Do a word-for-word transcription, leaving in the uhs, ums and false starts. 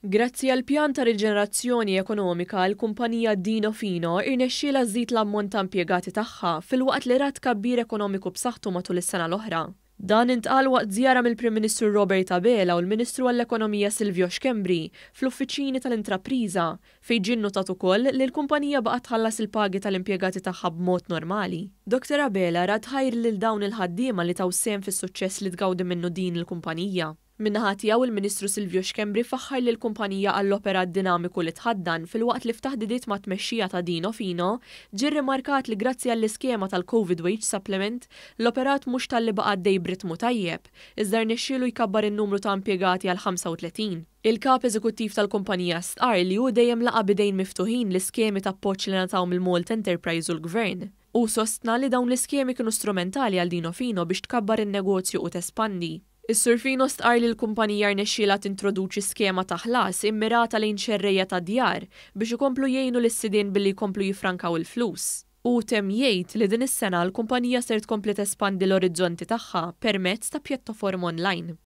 Grazzi għal pjan ta' riġenerazzjoni ekonomika, l-kumpanija Dino Fino irnexxiela żżid l-ammont ta' impjegati tagħha filwaqt li rat tkabbir ekonomiku b'saħħtu matul is-sena l-oħra. Dan intqal waqt żjara mill-Prim Ministru Robert Abela u l-Ministru għall-Ekonomija Silvio Schembri fl-uffiċini tal-intrapriża, fejn ġie nnotat ukoll li l-kumpanija baqgħet tħallas il-pagi tal-impjegati tagħha b'mod normali. Doktor Abela radd ħajr lil dawn il-ħaddiema li taw sehem fis-suċċess li tgawdi minnu din il-kumpanija. Min-naħa tiegħu, il-Ministru Silvio Schembri faħħar lil kumpanija għall-operat dinamiku li tħaddan, filwaqt li f'taħdidiet ma' tmexxija ta' Dino Fino ġie rrimarkat li grazzi għall-iskema tal-Covid Wage Supplement l-operat mhux talli baqa' għaddej b'ritmu tajjeb, iżda rnexxielu jkabbar in-numru ta' impjegati għal ħamsa u tletin. Il-kap eżekuttiv tal-kumpanija stqarr li hu dejjem laqa' bidejn miftuħin l-iskemi ta' appoġġ li ngħataw mill-Malta Enterprise u l-Gvern. U sostna li dawn l-iskemi kienu strumentali għal Dino Fino biex tkabbar in-negozju u tespandi. Is-Sur Fino stqarr li l-kumpanija rnexxielha tintroduċi skema ta' ħlas immirata lejn xerrejja ta' djar biex ikomplu jgħinu lis-sidien billi jkomplu jifrankaw il-flus. U temm jgħid li din is-sena l-kumpanija ser tkompli tespandi l-orizzonti tagħha permezz ta' pjattaforma online.